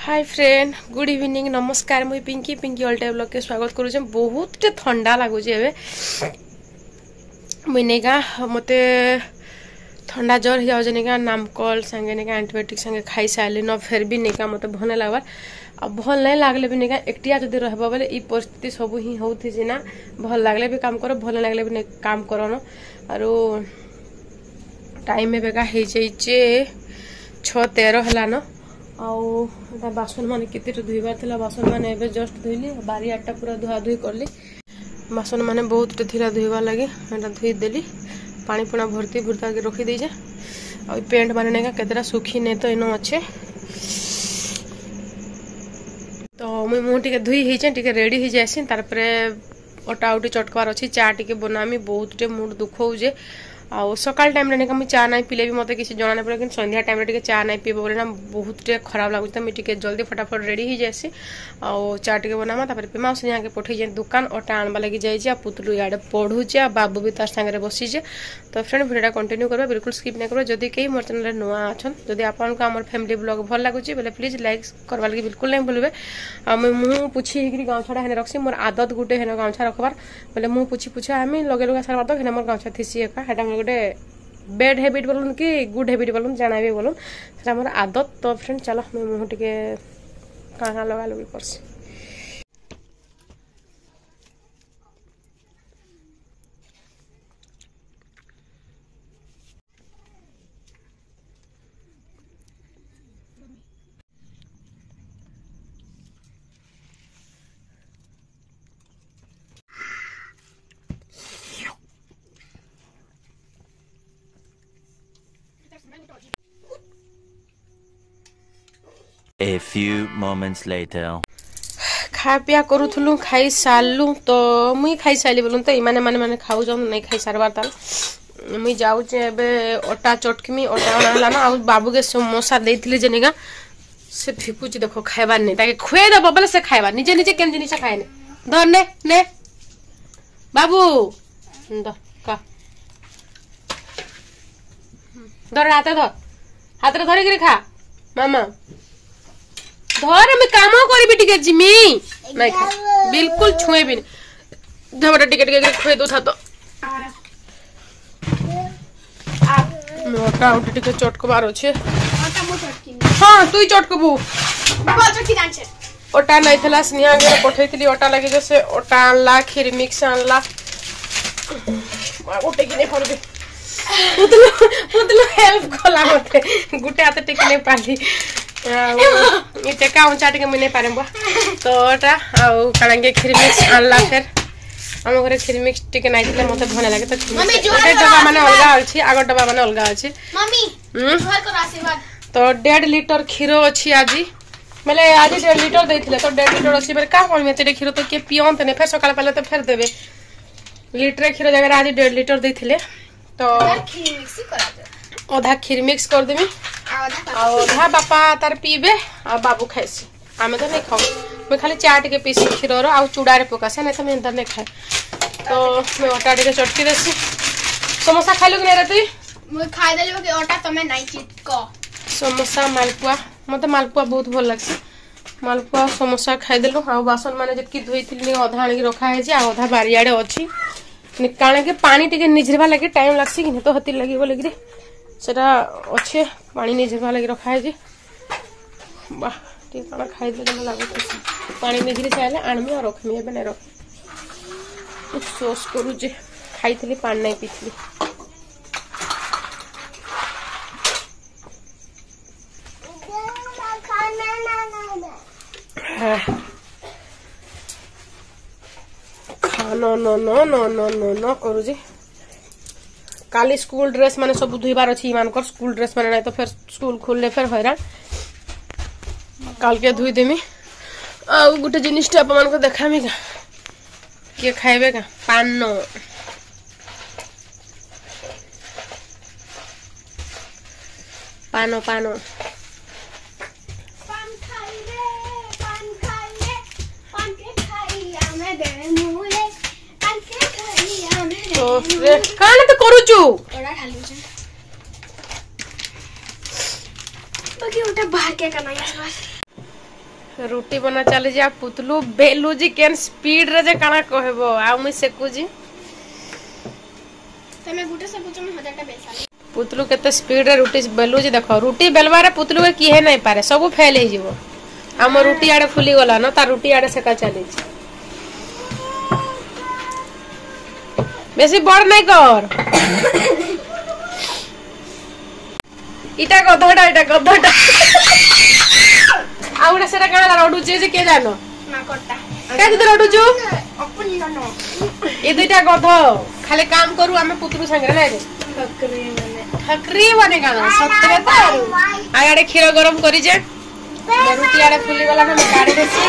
High friend, good evening, ନମସ୍କାର। ମୁଇଁ Pinki, Pinki all type ବ୍ଲଗ୍କେ ସ୍ୱାଗତ କରୁଛେ। ବହୁତ ଥଣ୍ଡା ଲାଗୁଛି ଏବେ। ମୁଇଁ ନେଇକା ମତେ ଥଣ୍ଡା ଜ୍ୱର ହେଇଯାଉଛି ନେଇକା, ନାମକଲ ସାଙ୍ଗେ ନେଇକା ଆଣ୍ଟିବାୟୋଟିକ୍ ସାଙ୍ଗେ ଖାଇ ସାରିଲି ନ, ଫେର୍ ବି ନେଇକା ମତେ ଭଲ ନାଇଁ ଲାଗ୍ବାର୍। ଆଉ ଭଲ ନାଇଁ ଲାଗଲେ ବି ନେଇକା ଏକଟିଆ ଯଦି ରହିବ ବେଲେ ଇ ପରିସ୍ଥିତି ସବୁ ହିଁ ହଉଥିସି ନା। ଭଲ ଲାଗଲେ ବି କାମ କର, ଭଲ ଲାଗଲେ ବି କାମ କରନ। ଆରୁ ଟାଇମ୍ ଏବେକା ହେଇଯାଇଛେ 6:13 ହେଲାନ। ଆଉ ଏଟା ବାସନ ମାନେ କେତେଟା ଧୋଇବାର ଥିଲା, ବାସନ ମାନେ ଏବେ ଜଷ୍ଟ ଧୋଇଲି। ବାରିଆଡ଼ଟା ପୁରା ଧୁଆ ଧୁଇ କଲି। ବାସନ ମାନେ ବହୁତଟେ ଥିଲା ଧୋଇବାର ଲାଗି, ଏଟା ଧୋଇଦେଲି। ପାଣି ପୁଣା ଭର୍ତ୍ତି ଭୁର୍ତ୍ତାକି ରଖିଦେଇଛେ। ଆଉ ପ୍ୟାଣ୍ଟ ମାନେ ନାଇକା କେତେଟା ଶୁଖି ନେଇ ତ ଇନ ଅଛେ। ତ ମୁଇଁ ମୁହଁ ଟିକେ ଧୋଇ ହେଇଛେ, ଟିକେ ରେଡି ହେଇଯାଏସି, ତାରପରେ ଅଟା ଉଟି ଚଟକବାର ଅଛି, ଚା ଟିକେ ବନାମି। ବହୁତ ଟିକେ ମୁଣ୍ଡ ଦୁଃଖ ହଉଛେ। ଆଉ ସକାଳ ଟାଇମ୍ରେ ନାଇକା ମୁଇଁ ଚା ନାଇଁ ପିଇଲେ ବି ମୋତେ କିଛି ଜଣା ନାଇଁ ପଡ଼େ, କିନ୍ତୁ ସନ୍ଧ୍ୟା ଟାଇମ୍ରେ ଟିକେ ଚା ନାଇଁ ପିଇବ ବୋଲେ ନା ବହୁତ ଟିକେ ଖରାପ ଲାଗୁଛି। ତ ମୁଇଁ ଟିକେ ଜଲ୍ଦି ଫଟାଫଟ ରେଡି ହେଇଯାଏସି ଆଉ ଚା ଟିକେ ବନାମା, ତାପରେ ପିମା। ଆଉ ସ୍ନେହାକେ ପଠେଇଛେ ଦୋକାନ, ଅଟା ଆଣବା ଲାଗି ଯାଇଛି। ଆଉ ପୁତଲୁ ଇଆଡ଼େ ପଢୁଛେ ଆଉ ବାବୁ ବି ତାର ସାଙ୍ଗରେ ବସିଛେ। ତ ଫ୍ରେଣ୍ଡ, ଭିଡ଼ିଓଟା କଣ୍ଟିନ୍ୟୁ କରିବା, ବିଲକୁଲ ସ୍କିପ୍ ନାଇଁ କରିବା। ଯଦି କେହି ମୋର ଚ୍ୟାନେଲରେ ନୂଆ ଅଛନ୍, ଯଦି ଆପଣଙ୍କୁ ଆମର ଫ୍ୟାମିଲି ବ୍ଲଗ୍ ଭଲ ଲାଗୁଛି ବେଲେ ପ୍ଲିଜ୍ ଲାଇକ୍ କରବା ଲାଗି ବିଲକୁଲ ନାଇଁ ଭୁଲବେ। ଆଉ ମୁଇଁ ମୁହଁ ପୁଛି ହେଇକିରି ଗାମଛାଟା ହେନେ ରଖ୍ସି। ମୋର ଆଦତ ଗୋଟେ ହେନେ ଗାମଛା ରଖବାର, ବେଲେ ମୁଁ ପୁଛି ପୁଛା ଆମେ ଲଗେଇ ଲଗା ସାରବାର ତ ହେନେ ମୋର ଗାମଛା ଥିସି ଏକା। ହେଟା ମୋର ଗୋଟେ ବେଡ୍ ହ୍ୟାବିଟ୍ ବୋଲୁନ୍ କି ଗୁଡ୍ ହ୍ୟାବିଟ୍ ବୋଲୁନ୍, ଜାଣାବି ବୋଲୁନ୍, ସେଟା ମୋର ଆଦତ। ତ ଫ୍ରେଣ୍ଡ, ଚାଲ ମୁଇଁ ମୁହଁ ଟିକେ କାଣା କାଣା ଲଗା ଲଗି କରସି। A few moments later. ଖା ପିଆ କରୁଥିଲୁ, ଖାଇ ସାରିଲୁ। ତ ମୁଇଁ ଖାଇ ସାରିଲି ବୋଲୁନ୍ ତ ଏମାନେ ମାନେ ମାନେ ଖାଉଛନ୍, ନାଇଁ ଖାଇ ସାରବାର। ତାଲ ମୁଇଁ ଯାଉଛେ ଏବେ ଅଟା ଚଟକିମି, ଅଟା ଅଣା ହେଲା ନା। ଆଉ ବାବୁକେ ସମୋସା ଦେଇଥିଲି ଯେ ନିକା ସେ ଫିକୁଛି ଦେଖ, ଖାଇବାର ନାଇଁ। ତାକେ ଖୁଆଇ ଦେବ ବେଲେ ସେ ଖାଇବା, ନିଜେ ନିଜେ କେନ୍ ଜିନିଷ ଖାଏନି। ଧର, ନେ ନେ ବାବୁ, ଧର କା, ଧର, ହାତରେ ଧର, ହାତରେ ଧରିକିରି ଖା। ମାମା ଧର, ମୁଇଁ କାମ କରିବି ଟିକେ ଜିମି। ନାଇଁ ଖା, ବିଲକୁଲ ଛୁଏଁବିନି। ଧର, ଟିକେ ଟିକେ ଖୁଆଇ ଦଉଥା। ତ ଅଟା ଉଟି ଟିକେ ଚଟକବାର ଅଛି। ହଁ, ତୁଇ ଚଟକବୁ। ଅଟା ନାଇଥିଲା, ସ୍ନେହା ଘରେ ପଠେଇଥିଲି ଅଟା ଲାଗି ଯେ ସେ ଅଟା ଆଣଲା, କ୍ଷୀରି ମିକ୍ସ ଆଣଲା। ଗୋଟେ କି ନେଇ ପାରବି, ପୁତଲୁ ପୁତଲୁ ହେଲ୍ପ କଲା ମତେ, ଗୋଟେ ହାତ ଟେକି ନେଇ ପାରିଲି। ଆଉ ଏ ଟେକା ଉଞ୍ଚା ଟିକେ ମୁଇଁ ନେଇ ପାରିବ। ତ ଏଟା ଆଉ କାଣାକେ କ୍ଷୀରି ମିକ୍ସ ଆଣଲା। ଫେର୍ ଆମ ଘରେ କ୍ଷୀରି ମିକ୍ସ ଟିକେ ନାଇଥିଲେ ମତେ ଭଲ ଲାଗେ। ତ ଗୋଟେ ଡବା ମାନେ ଅଲଗା ଅଛି, ଆଗ ଡବା ମାନେ ଅଲଗା ଅଛି। ତ 1.5 ଲିଟର କ୍ଷୀର ଅଛି ଆଜି, ବେଲେ ଆଜି 1.5 ଲିଟର ଦେଇଥିଲେ, ତ 1.5 ଲିଟର ଅଛି। ବେଲେ କାଁ କରିବି, ଏତେ କ୍ଷୀର ତ କିଏ ପିଅନ୍ତେନି, ଫେର୍ ସକାଳ ପାଇଲେ ତ ଫେର୍ ଦେବେ। ଲିଟରେ କ୍ଷୀର ଜାଗାରେ ଆଜି 1.5 ଲିଟର ଦେଇଥିଲେ, ତ ଅଧା କ୍ଷୀର ମିକ୍ସ କରିଦେମି ଆଉ ଅଧା ବାପା ତାର ପିଇବେ ଆଉ ବାବୁ ଖାଇସି। ଆମେ ତ ନାଇଁ ଖାଉ, ମୁଇଁ ଖାଲି ଚା ଟିକେ ପିଇସି କ୍ଷୀରର ଆଉ ଚୁଡ଼ାରେ ପକାସି, ନାଇଁ ତ ମୁଇଁ ଏନ୍ତା ନାଇଁ ଖାଏ। ତ ମୁଇଁ ଅଟା ଟିକେ ଚଟକି ଦେସି। ସମୋସା ଖାଇଲୁ କି ନାଇଁ ରେ ତୁଇ? ମୁଇଁ ଖାଇଦେଲି, ବାକି ଅଟା ତମେ ନାଇଁ ଚିଟକ। ସମୋସା ମାଲପୁଆ, ମତେ ମାଲପୁଆ ବହୁତ ଭଲ ଲାଗ୍ସି। ମାଲପୁଆ ସମୋସା ଖାଇଦେଲୁ। ଆଉ ବାସନ ମାନେ ଯେତିକି ଧୋଇଥିଲି ଅଧା ଆଣିକି ରଖା ହେଇଛି ଆଉ ଅଧା ବାରିଆଡ଼େ ଅଛି। କାଣା କି ପାଣି ଟିକେ ନିଝିରବା ଲାଗି ଟାଇମ୍ ଲାଗ୍ସି କି ତ, ହେଥିର୍ ଲାଗି ବୋଲିକିରି ସେଟା ଅଛେ, ପାଣି ନିଝିରବା ଲାଗି ରଖା ହେଇଛି। ବାহ, ଟିକେ କାଣା ଖାଇଦେଲେ ଯେନ୍ତା ଲାଗୁଛି। ପାଣି ନିଝିରି ସାରିଲେ ଆଣମି ଆଉ ରଖମି, ଏବେ ନାଇଁ ରଖ। ଶୋଷ କରୁଛେ, ଖାଇଥିଲି, ପାଣି ନାଇଁ ପିଇଥିଲି। ନ ନ ନ ନ ନ ନ ନ କରୁଛି। କାଲି ସ୍କୁଲ ଡ୍ରେସ୍ ମାନେ ସବୁ ଧୋଇବାର ଅଛି ଏମାନଙ୍କର। ସ୍କୁଲ ଡ୍ରେସ୍ ମାନେ ନାଇଁ ତ ଫେର୍ ସ୍କୁଲ ଖୋଲିଲେ ଫେର୍ ହଇରାଣ। କାଲକେ ଧୋଇଦେମି। ଆଉ ଗୋଟେ ଜିନିଷଟା ଆପଣମାନଙ୍କୁ ଦେଖାମି କା, କିଏ ଖାଇବେ କା? ପାନ, ପାନ, ପାନ। ପାନ ଖାଇବେ, ପାନ ଖାଇବେ, ପାନ କେ ଖାଇ ଆମେ ଦେମୁରେ, ପାନ କେ ଖାଇ ଆମେ। ତ କାଣା ତ କରୁଛୁ? ଅଟା ଢାଲୁଛେ। ବାକି ଓଟା ବାହାର କେ କନା ଇସ୍। ରୁଟି ବନା ଚାଲିଛି ଆଉ ପୁତଲୁ ବେଲୁଛି କେନ୍ ସ୍ପିଡରେ ଯେ କାଣା କହିବ, ଆଉ ମୁଇଁ ସେକୁଛି। ତମେ ଗୁଟେ ସେକୁଛ, ମୁଁ ହଜାରଟା ବେଲସାଲି। ପୁତଲୁ କେତେ ସ୍ପିଡରେ ରୁଟି ବେଲୁଛି ଦେଖ। ରୁଟି ବେଲବାରେ ପୁତଲୁ କିଏ ନାଇଁ ପାରେ, ସବୁ ଫେଲ ହେଇଯିବ। ଆମ ରୁଟି ଆଡେ ଫୁଲି ଗଲା ନ, ତାର ରୁଟି ଆଡେ ସେକା ଚାଲିଛି। ବେଶୀ ବଡ ନାଇଁ କର। ଇଟା ଗଧଟା, ଇଟା ଗଧଟା। ଆଉ ଗୋଟେ ସେଟା କାଣା ରଡୁଛି ଯେ କିଏ ଜାନ? ମାଙ୍କଡଟା। କାଇଁ ତୁ ରଡୁଛୁ? ଏ ଦୁଇଟା ଗଧ ଖାଲି କାମ କରୁ ଆମେ ପୁତରୁ ସାଙ୍ଗରେ ନାଇଁ ରେ ଠକରି ମାନେ କାଣା ସତରେ ତ। ଆଉ ଆଡେ କ୍ଷୀର ଗରମ କରିଛେ, ରୁଟି ଆଡେ ଫୁଲି ଗଲା, ଆମେ କାଢି ଦେସି।